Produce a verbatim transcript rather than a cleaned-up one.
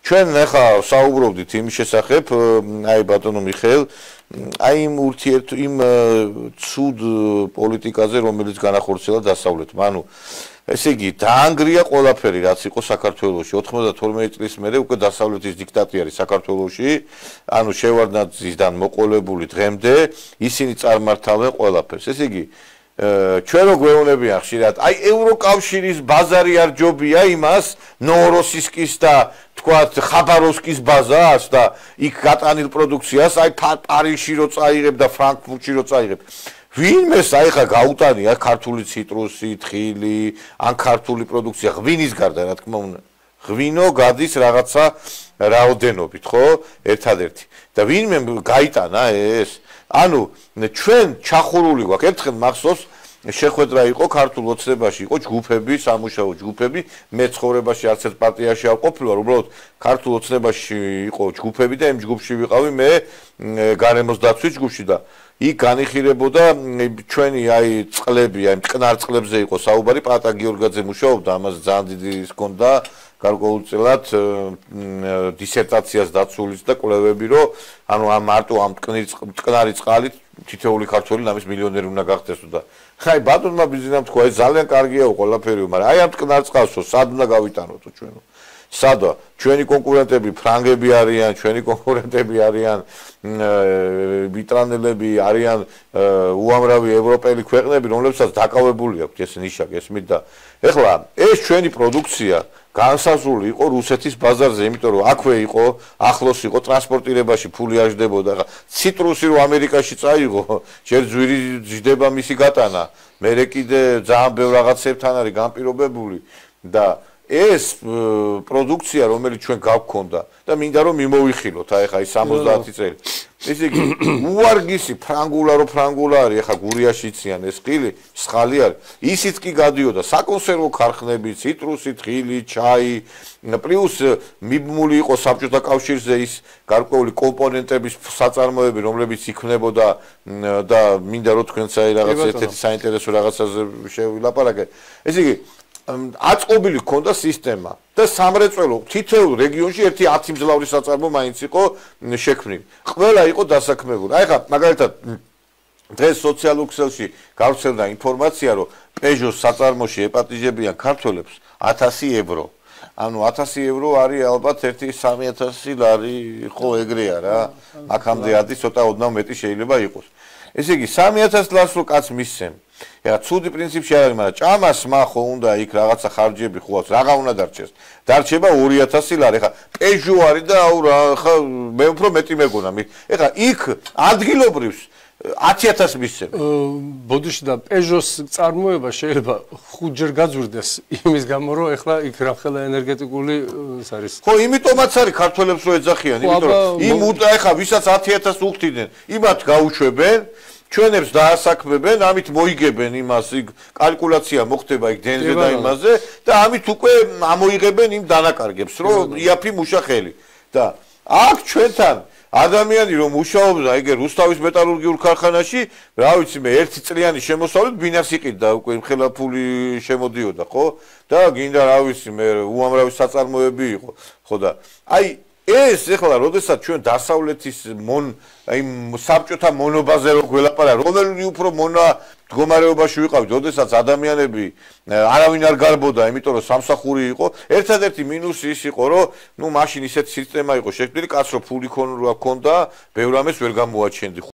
ჩვენ ახლა საუბრობდით იმის შესახებ, აი ბატონო მიხეილ, აი იმ ურთიერთ იმ ცუდ პოლიტიკაზე, რომელიც განახორციელა დასავლეთმა. ანუ ესე იგი, დაანგრია ყველაფერი, რაც იყო საქართველოში. ოთხმოცდათორმეტი წლის მერე უკვე დასავლეთის დიქტატი არის საქართველოში. ანუ შევარდნაძისგან მოყოლებული დღემდე ისინი წარმართავენ ყველაფერს. ესე იგი, ჩვენ რო გვეუბნებიან ხშირად, აი ევროკავშირის ბაზარი არ ჯობია იმას, ნოვოროსისკის და თქვათ ხაბაროვსკის ბაზას და იქ გატანილ პროდუქციას, აი პარიზში რო წაიღებ და ფრანკფურტში რო წაიღებ. ვინმეს აი ხა გაუტანია ქართული ციტრუსი, თხილი, ან ქართული პროდუქცია ღვინის გარდა, რა თქმა უნდა. ღვინო გადის რაღაცა რაოდენობით, ხო? ერთადერთი. და ვინმე გაიტანა ეს? ანუ ჩვენ ჩახურული გვაქვს, ერთხელ მახსოვს შეხვედრა იყო ქართულ ოცნებაში, იყო ჯგუფები, სამუშაო ჯგუფები, მე ცხოვრებაში არც ერთ პარტიაში არ ყოფილი ვარ, უბრალოდ ქართულ ოცნებაში იყო ჯგუფები და იმ ჯგუფში ვიყავი მე გარემოს დაცვის ჯგუფში და იქ განიხილებოდა ჩვენი აი წყლები, აი მტკნარ წყლებზე იყო საუბარი, პატა გიორგაძე მუშაობდა, ამას ძალიან დიდი ის ჰქონდა გარკვეულწილად დისერტაციას დაცულის და კვლევები, რომ ანუ ამ მარტო ამ მტკნარი წყალით თითოეული ქართველი ნამის მილიონერი უნდა გახდეს და აი ბატონმა ბიზნესამ თქვა, ეს ძალიან კარგია ყველაფერი, მაგრამ აი ამ მტკნარ წყალსო სად უნდა გავიტანოთო ჩვენო? სადა ჩვენი კონკურენტები ფრანგები არიან, ჩვენი კონკურენტები არიან ბრიტანელები, არიან უამრავი ევროპელი ქვეყნები, რომლებსაც დაკავებული აქვს ეს ნიშა, გესმით და ეხლა ეს ჩვენი პროდუქცია განსაზღვრული იყო რუსეთის ბაზარზე, იმიტომ რომ აქვე იყო, ახლოს იყო ტრანსპორტირებაში ფული აждდებოდა. ახლა ციტრუსი რო ამერიკაში წაიღო, ჯერ ძვირი ჯდება მისი გატანა, მერე კიდე ძალიან ბევრ რაღაცებთან არის განპირობებული და ეს პროდუქცია, რომელიც ჩვენ გავქონდა და მინდა რომ მიმოვიხილოთ, აი ხა ის სამოცდაათი წელი. ესე იგი, უარგისი ფრანგულა რო ფრანგულა არის, ახლა გურიაში იციან ეს ხილი, სხალი არის. ისიც კი გადიოდა საკონსერვო ქარხნები, ციტრუსი, თხილი, ჩაი, პლუს მიბმული იყო საბჭოთა კავშირზე ის გარკვეული კომპონენტების საწარმოები, რომლებიც იქმნებოდა და მინდა რომ თქვენც აი რაღაც ერთ-ერთი საინტერესო რაღაცაზე შევილაპარაკეთ. ესე იგი, აწყობილი ჰქონდა სისტემა და სამრეწველო თითოეულ რეგიონში ერთი ათი მძლავრი საწარმო მაინც იყო შექმნილი. ყველა იყო დასაქმებული. აი ხა მაგალითად დღეს სოციალურ ქსელში გავრცელდა ინფორმაცია, რომ პეჟოს საწარმოში ეპატიჟებიან ქართველებს ათასი ევრო. ანუ ათასი ევრო არის ალბათ ერთი სამი ათასი ლარი, ხო ეგრეა რა. აქამდე ადი ცოტა ოდნავ მეტი შეიძლება იყოს. ესე იგი სამი ათასი ლარს რო კაც მისცემ. ეხლა ცუდი პრინციპში არ არის, მაგრამ ჭამას მახო უნდა იქ რაღაცა ხარჯები ხო აქვს, რაღა უნდა დარჩეს. დარჩება ორი ათასი ლარი. ეხლა პეჟო არის და აუ რა, ხა მე უფრო მეტი მეგონა. ეხლა იქ ადგილობრივს ათი ათასი მისცემ. ბოდიში და პეჟოს წარმოება შეიძლება ხუთჯერ გაძვირდეს იმის გამო, რომ ეხლა იქ რახელა ენერგეტიკული ის არის. ხო, იმიტომაც არის ქართველებს რო ეძახიან, იმიტომ რომ იმ ეხლა ვისაც ათი ათასი უხდიდნენ, იმათ გაუშვებენ ჩვენებს დაასაქმებენ, ამით მოიგებენ იმას, იქ კალკულაცია მოხდება იქ დენზე და იმაზე და ამით უკვე ამოიღებენ იმ დანაკარგებს, რომ იაფი მუშახელი. და აქ ჩვენთან ადამიანი რომ მუშაობდა ეგ რუსთავის მეტალურგიულ ქარხანაში, რა ვიცი მე ერთი წლიანი შემოსავლით ბინას იყიდა უკვე ხელა ფული შემოდიოდა, ხო? და გინდა რა ვიცი მე უამრავი საწარმოები იყო, ხო და აი ეს ეხლა როდესაც ჩვენ დასავლეთის მონ აი საბჭოთა მონობაზე რო გველაპარაკ, რომელი უფრო მონა მდგომარეობაში ვიყავით, როდესაც ადამიანები არავინ არ გარბოდა, იმიტომ რომ სამსახური იყო. ერთადერთი მინუსი ის იყო, რომ ნუ მაშინ ისეთი სისტემა იყო შექმნილი, კაცრო ფული ქონდა, ბევრ ამას ვერ გამოაჩენდი.